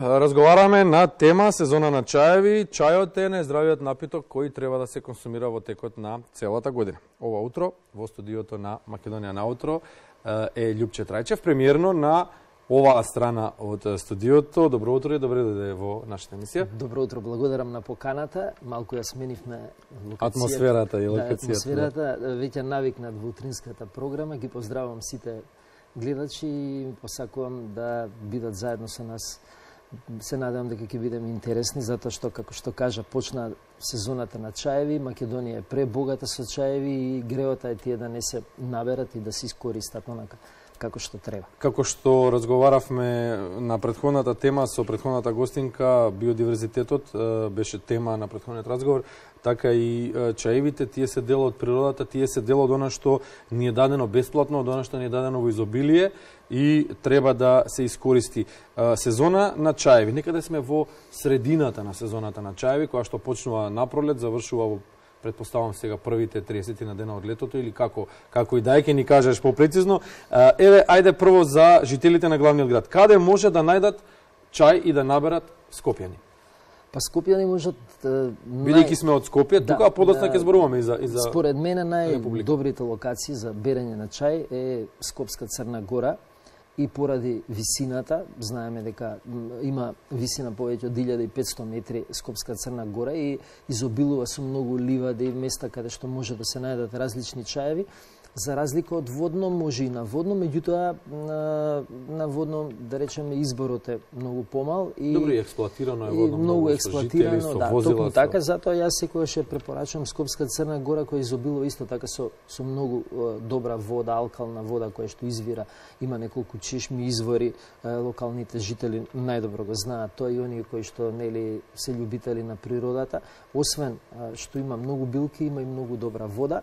Разговараме на тема сезона на чаеви. Чајот е најздравиот напиток кој треба да се консумира во текот на целата година. Ова утро во студиото на Македонија наутро е Љупче Трајчев, премиерно на оваа страна од студиото. Добро утро и добре дојде во нашата емисија. Добро утро, благодарам на поканата. Малку ја сменивме локацијата. Атмосферата и локацијата. Атмосферата, веќе навикнат во утринската програма. Ги поздравувам сите гледачи и посакувам да бидат заедно со нас. Се надевам дека ќе бидеме интересни, затоа што, како што кажа, почна сезоната на чаеви. Македонија е пребогата со чаеви и греота е тие да не се наберат и да се искористат онака како што треба. Како што разговаравме на претходната тема со претходната гостинка, биодиверзитетот беше тема на претходниот разговор, така и чаевите, тие се дел од природата, тие се дел од она што ни е дадено бесплатно, од она што ни е дадено во изобилие и треба да се искористи. Сезона на чаеви, некаде сме во средината на сезоната на чаеви, која што почнува напролет, завршува во, предпоставам сега, првите 30 на дена од летото, или како и да ќе ни кажеш попрецизно. Еве, ајде прво за жителите на главниот град. Каде може да најдат чај и да наберат скопјани? Па скопјани можат... Бидејќи сме од Скопје, тука подоцна ќе зборуваме и за според мене најдобрите локации за берење на чај е Скопска Црна Гора, и поради висината, знаеме дека има висина повеќе од 1500 метри Скопска Црна Гора и изобилува со многу ливади и места каде што може да се најдат различни чаеви. За разлика од водно, може и на водно, меѓутоа на водно, да речеме, изборот е многу помал и добро експлоатирано е водно, многу експлоатирано, да, токму така, затоа јас секогаш ја препорачувам Скопска Црна Гора, која изобилува исто така со многу добра вода, алкална вода која што извира, има неколку чешми, извори, локалните жители најдобро го знаат тоа и оние кои што нели се љубители на природата. Освен што има многу билки, има и многу добра вода.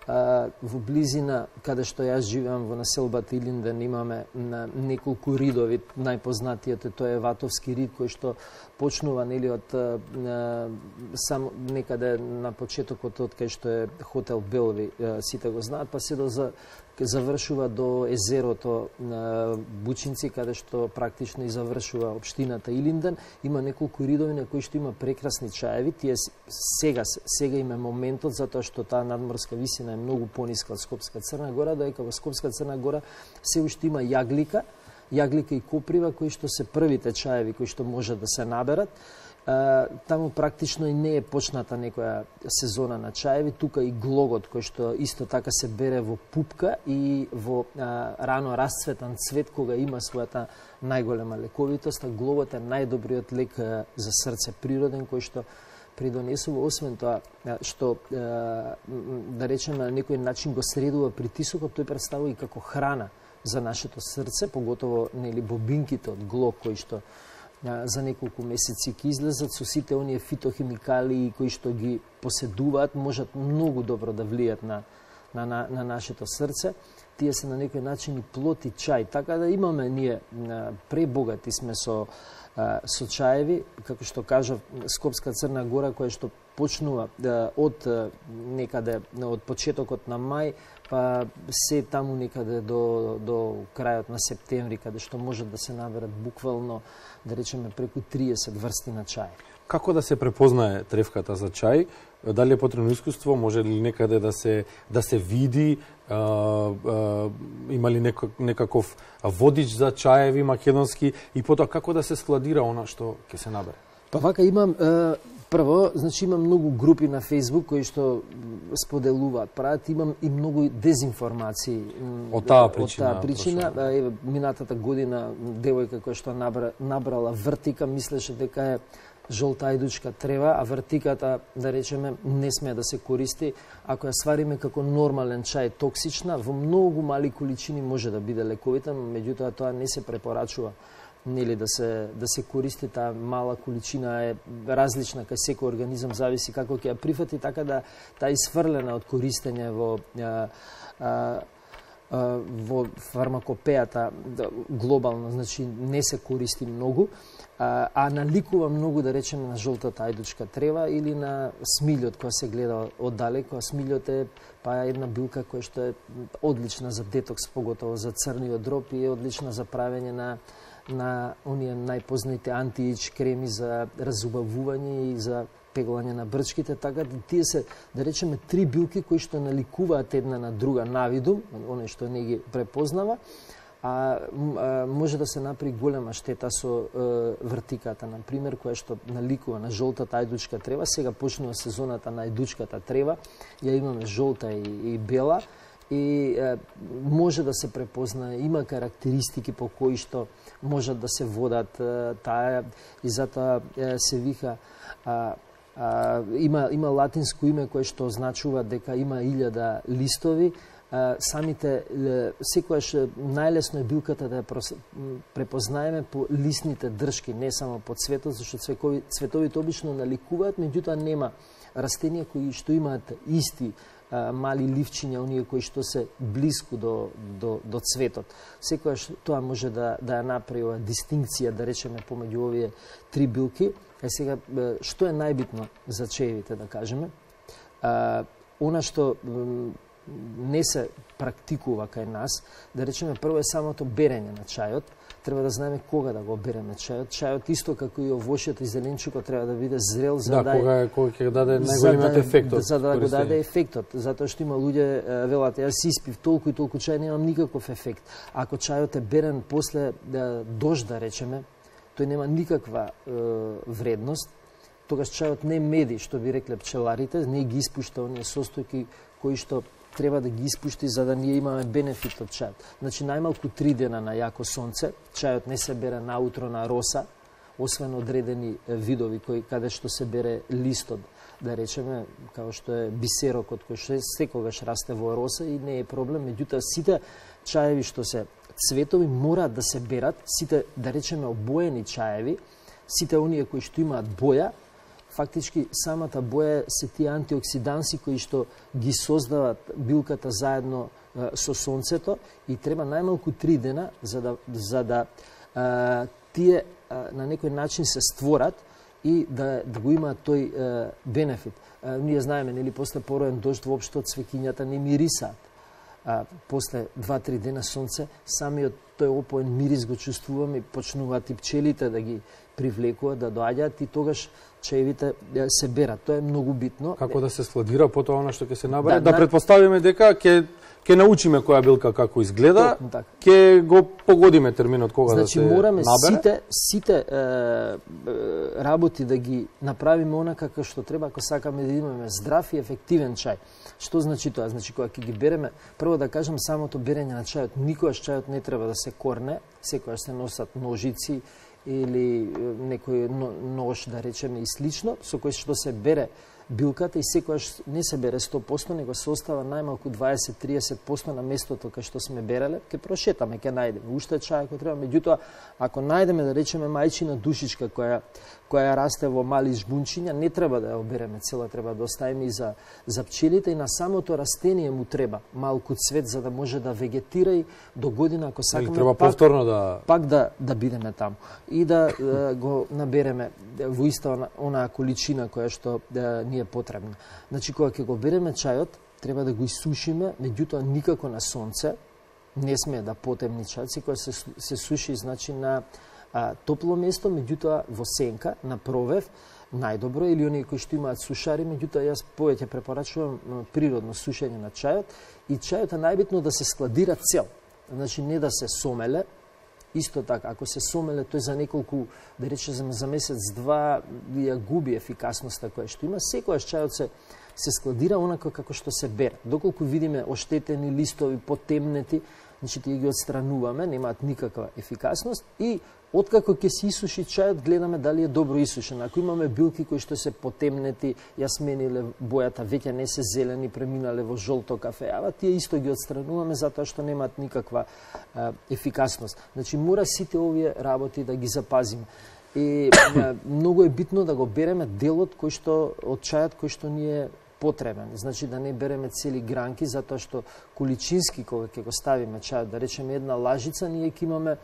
Во близина, каде што јас живеам во населбата Илинден, имаме неколку ридови. Најпознатиот е тој Ватовски рид, кој што почнува нели од само некаде на почетокот од кај што е хотел Белви, сите го знаат, па се завршува до езерото Бучинци, каде што практично и завршува општината Илинден. Има неколку ридови на кои што има прекрасни чаеви. Тие сега има моментот, затоа што таа надморска висина е многу пониска од Скопска Црна Гора, доека во Скопска Црна Гора се уште има јаглика и коприва, кои што се првите чаеви кои што може да се наберат. Таму практично и не е почната некоја сезона на чаеви, тука и глогот кој што исто така се бере во пупка и во рано расцветан цвет кога има својата најголема лековитост, а глогот е најдобриот лек за срце природен кој што придонесува, освен тоа што да речеме на некој начин го средува притисокот, тој представува и како храна за нашето срце, поготово нели бобинките од глог кои што за неколку месеци ќе излезат со сите оние фитохимикали кои што ги поседуваат, можат многу добро да влијат на нашето срце. Тие се на некој начин и плод и чај, така да имаме ние пребогати сме со чаеви, како што кажав, Скопска Црна Гора, која што почнува од некаде од почетокот на мај, па се таму некаде до крајот на септември, каде што може да се наберат буквално, да речеме, преку 30 врсти на чај. Како да се препознае трефката за чај? Дали е потребно искуство? Може ли некаде да се види? Има ли некаков водич за чаеви македонски? И потоа како да се складира она што ќе се набере? Па вака имам прво, значи имам многу групи на Facebook кои што споделуваат, прават, имам и многу дезинформации. Од таа причина. Минатата година девојка која што набрала вртика, мислеше дека е жолта ајдучка трева, а вртиката, да речеме, не смее да се користи. Ако ја свариме како нормален чај токсична, во многу мали количини може да биде лековита, меѓутоа тоа не се препорачува нели да се користи. Таа мала количина е различна кај секој организам, зависи како ќе ја прифати, така да таа исфрлена од користење во фармакопејата глобално, значи не се користи многу, а наликува многу, да речеме, на жолтата ајдучка трева или на смилјот која се гледа оддалеко. Смилјот е една билка која што е одлична за детокс, поготово за црниот дроб, и е одлична за правење на на оние најпознати анти-ейдж креми за разубавување и за пеглање на брчките, така да тие се, да речеме, 3 билки кои што наликуваат една на друга навидум, оној што не ги препознава, а може да се направи голема штета со вртиката, на пример, која што наликува на жолтата ајдучка трева. Сега почнува сезоната на ајдучката трева, ја имаме жолта и бела, и може да се препознае, има карактеристики по кои што можат да се водат таа, и затоа се вика има латинско име кое што означува дека има 1000 листови. Самите, секојаш најлесно е билката да ја препознаеме по лисните држки, не само по цветот, зашто цветовите обично наликуваат, меѓутоа нема растенија кои што имаат исти мали ливчиња, оние кои што се блиску до цветот. Секојаш тоа може да ја направи дистинкција, да речеме, помеѓу овие 3 билки. Сега, што е најбитно за чаевите, да кажеме? Она што не се практикува кај нас, да речеме, прво е самото берење на чајот. Треба да знаеме кога да го береме чајот. Чајот исто како и овошјето и зеленчукот треба да биде зрел за кога ќе даде најголемиот ефектот. За да го даде ефектот, затоа што има луѓе велат, јас испив толку и толку чај, немам никаков ефект. Ако чајот е берен после дожд, да речеме, тој нема никаква вредност. Тогаш чајот не меди, што би рекле пчеларите, не ги испушта оние состојки кои што треба да ги испушти за да ние имаме бенефит од чајот. Значи, најмалку 3 дена на јако сонце, чајот не се бере наутро на роса, освен одредени видови каде што се бере листот, да речеме, као што е бисерокот, кој што секогаш расте во роса и не е проблем. Меѓутоа, сите чаеви што се цветови мораат да се берат, сите, да речеме, обоени чаеви, сите оние кои што имаат боја, фактички самата боја се тие антиоксиданси кои што ги создават билката заедно со сонцето, и треба најмалку 3 дена за да тие на некој начин се створат и да го имаат тој бенефит. Ние знаеме, нели, после пороен дожд воопшто цвеќињата не мирисаат. После 2-3 дена сонце, самиот тој опоен мирис го чувствуваме, почнуваат и пчелите да ги привлекуваат, да доаѓаат, и тогаш чаевите се берат. Тоа е многу битно. Како да се складира потоа она што ќе се набере? Да предпоставиме дека ќе научиме која билка како изгледа, ќе го погодиме терминот кога да се набере. Значи мораме сите работи да ги направиме онака како што треба, ако сакаме да имаме здрав и ефективен чај. Што значи тоа? Значи кога ќе ги береме, прво да кажам, самото берење на чајот, никогаш чајот не треба да се корне, секогаш се носат ножици или некој нож, да речеме, и слично, со кој што се бере билката, и секогаш не се бере 100%, него се остава најмалку 20-30% на местото кај што сме береле. Ке прошетаме, ке најдеме уште чај ако треба, меѓутоа ако најдеме, да речеме, мајчина душичка која расте во мали жбунчиња, не треба да ја обереме цела, треба да оставиме и за пчелите, и на самото растение му треба малку цвет за да може да вегетира и до година, ако сакаме, треба повторно пак да бидеме таму и да го набереме во иста онаа количина која што ни е потребна. Значи, кога ќе го береме чајот, треба да го исушиме, меѓутоа никако на сонце, не сме да потемни чајот, секоја се суши, значи, на топло место, меѓутоа во сенка, на провев, најдобро, или оние кои што имаат сушари, меѓутоа јас повеќе препорачувам природно сушење на чајот, и чајот е најбитно да се складира цел, значи не да се сомеле. Исто така, ако се сомеле, тој за неколку, да речеме, за месец-два ја губи ефикасноста која што има. Секојаш чајот се складира онака како што се бере. Доколку видиме оштетени листови, потемнети, значи тие ги отстрануваме, немаат никаква ефикасност, и откако ќе се исуши чајот, гледаме дали е добро исушен. Ако имаме билки кои што се потемнети, ја смениле бојата, веќе не се зелени, преминале во жолто кафеава, тие исто ги отстрануваме затоа што немаат никаква ефикасност. Значи мора сите овие работи да ги запазиме. И многу е битно да го береме делот од чајот кој што ни е потребен. Значи да не береме цели гранки, затоа што количински кога ќе го ставиме чајот, да речеме една лажица, ние ќе имаме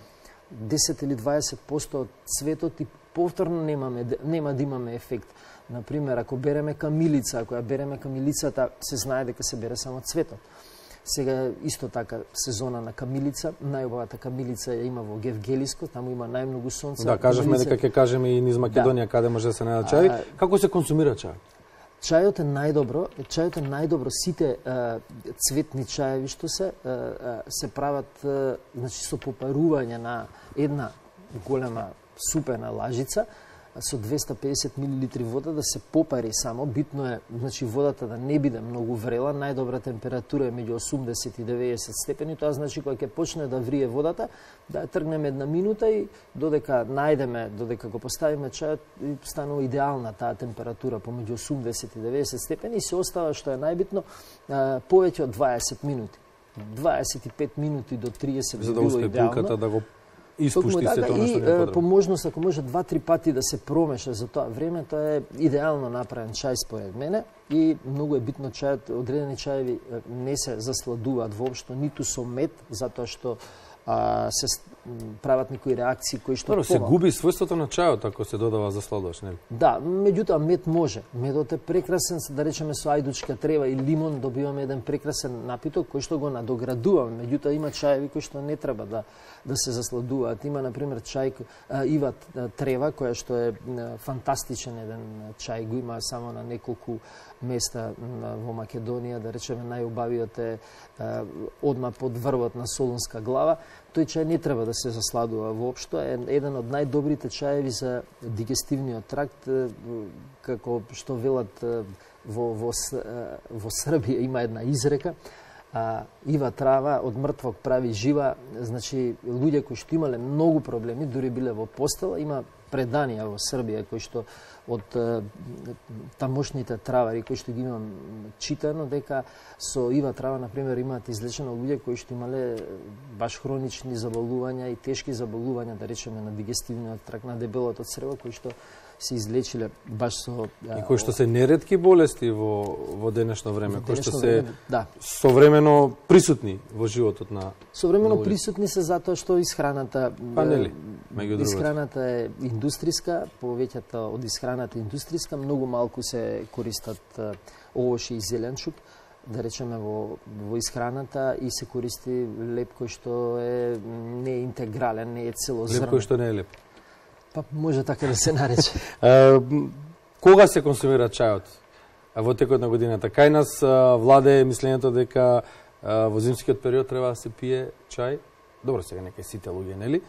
10 или 20% од цветот и повторно нема да имаме ефект. Например, ако береме камилица, ако ја береме камилицата, се знае дека се бере само цветот. Сега исто така сезона на камилица, најубавата камилица ја има во Гевгелиско, таму има најмногу сонце. Да, кажавме дека ќе кажеме и низ Македонија каде може да се најде чај. Како се консумира чај? Чајот е најдобро, сите цветни чаеви што се прават значи со попарување на една голема супена лажица со 250 мл вода да се попари само. Битно е значи водата да не биде многу врела, најдобра температура е меѓу 80 и 90 степени, тоа значи кога ќе почне да врие водата, да тргнеме една минута и додека го поставиме чајот, станува идеална таа температура помеѓу 80 и 90 степени и се остава што е најбитно повеќе од 20 минути. 25 минути до 30 би било идеално. За да да го испушти се тоа што не е по можност, ако може 2-3 пати да се промеша за тоа време, тоа е идеално направен чај според мене и многу е битно чајот, одредени чаеви не се засладуваат воопшто ниту со мед, затоа што се прават некои реакции кои што се губи својството на чајот ако се додава засладувач, нели? Да, меѓутоа мед може. Медот е прекрасен, да речеме со ајдучка трева и лимон добиваме еден прекрасен напиток кој што го надоградуваме. Меѓутоа има чаеви кои што не треба да се засладуваат. Има на пример чај ива трева која што е фантастичен еден чај, го има само на неколку места во Македонија, да речеме најубавиот е одма под врвот на Солунска глава. Тој чај не треба да се засладува воопшто, е еден од најдобрите чаеви за дигестивниот тракт, како што велат во Србија има една изрека, ива трава од мртвог прави жива, значи луѓе кои што имале многу проблеми, дури биле во постела, има преданија во Србија кои што од тамошните травари кои што ги имам читано дека со ива трава на пример имаат излечено луѓе кои што имале баш хронични заболувања и тешки заболувања, да речеме на дигестивниот тракт, на дебелото црево, кои што се излечиле баш со и кои што се неретки болести во денешно време, кои што се современо присутни во животот на современо присутни се затоа што исхраната исхраната е индустријска, повеќето од исхраната индустријска, многу малку се користат овошје и зеленчук, да речеме во исхраната и се користи леп кој што е не е интегрален, не е целозрнен. Леп кој што не е леп. Па може така да се нарече. Кога се консумира чајот во текот на годината? Кај нас владе мислењето дека во зимскиот период треба да се пие чај. Добро, сега нека сите луѓе, нели?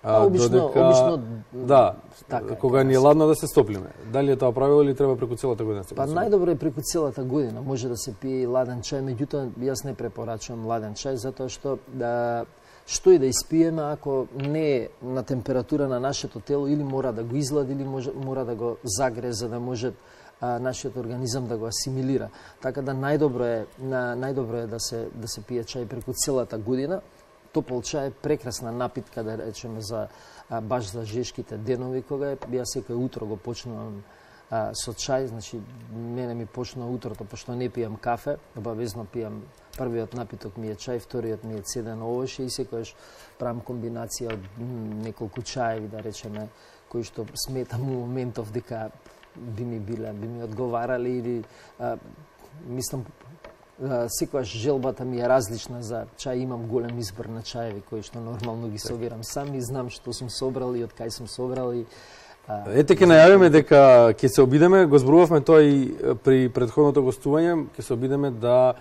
Обично да, така, кога ни е ладно да се стоплиме. Дали е тоа правило или треба преку целата година се консумира? Па најдобро е преку целата година. Може да се пие ладен чај, меѓутоа јас не препорачувам ладен чај затоа што што и да испиеме, ако не е на температура на нашето тело, или мора да го излади, или мора да го загре, за да може нашиот организам да го асимилира. Така да најдобро е да се пие чај преку целата година. Топол чај е прекрасна напитка, да речеме, баш за жешките денови, кога јас секој утро го почнувам со чај, значи мене ми почнува утрото, пошто не пијам кафе, обавезно пијам. Првиот напиток ми е чај, вториот ми е цеден овоше и секојаш правам комбинација од неколку чаеви, да речеме, кои што сметам у моментов дека би ми одговарали или мислам секојаш желбата ми е различна за чај, имам голем избор на чаеви кои што нормално ги собирам сам и знам што сум собрал и од кај сум собрал и Ете ќе најавиме дека ќе се обидеме, го зборувавме тоа и при претходното гостување, ќе се обидеме да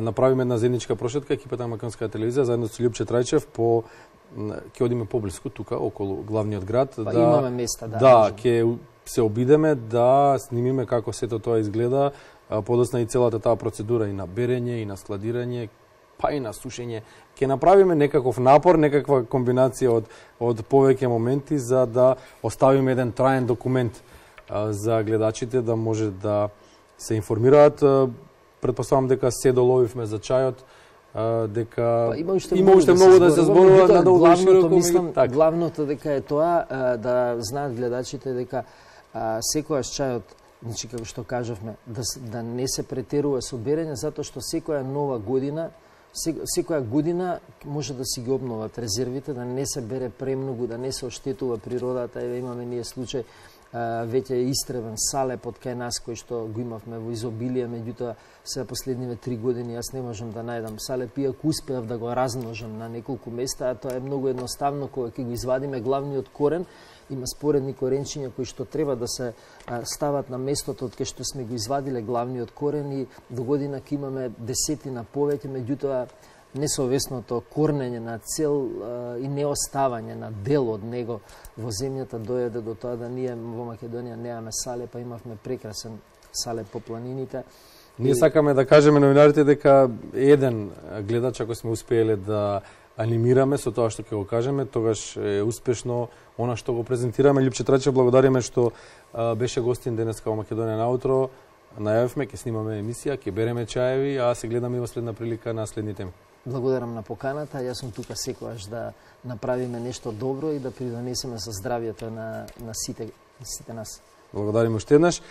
направиме една заедничка прошетка екипата на Македонска телевизија заедно со Љупче Трајчев ќе одиме поблиску тука околу главниот град, имаме места, да, ќе се обидеме да снимиме како сето тоа изгледа, подоцна и целата таа процедура и на берење и на складирање, па и на сушење. Ќе направиме некаков напор, некаква комбинација од повеќе моменти за да оставиме еден траен документ за гледачите да може да се информираат. Предпоставам дека се доловивме за чајот, дека има уште многу да се зборува надолго и широко. Главното дека е тоа да знаат гледачите дека секојаш чајот, значи како што кажавме, да не се претерува со берење, затоа што секоја нова година секоја година може да си ги обноват резервите, да не се бере премногу, да не се оштетува природата. Еве имаме ние случај, веќе е истребен салеп од кај нас, кој што го имавме во изобилие, меѓутоа сега последниве 3 години јас не можам да најдам салеп, иако успеав да го размножам на неколку места, а тоа е многу едноставно кога ќе го извадиме главниот корен. Има споредни коренчиња кои што треба да се стават на местото од кај што сме го извадиле главниот корен и до година ќе имаме десетина повеќе, меѓутоа несовесното корнење на цел и неоставање на дел од него во земјата дојде до тоа да ние во Македонија немаме салеп, а имавме прекрасен салеп по планините. Ние сакаме да кажеме новинарите дека еден гледач, ако сме успееле да анимираме со тоа што ќе го кажеме, тогаш е успешно она што го презентираме. Лјупче Трачев, благодариме што беше гостин денеска во Македонија на утро. Најавивме, ќе снимаме емисија, ќе береме чаеви, а се гледаме и во следна прилика на следни теми. Благодарам на поканата. Јас сум тука секогаш да направиме нешто добро и да придонесеме за здравјето на сите нас. Благодариме уште еднаш.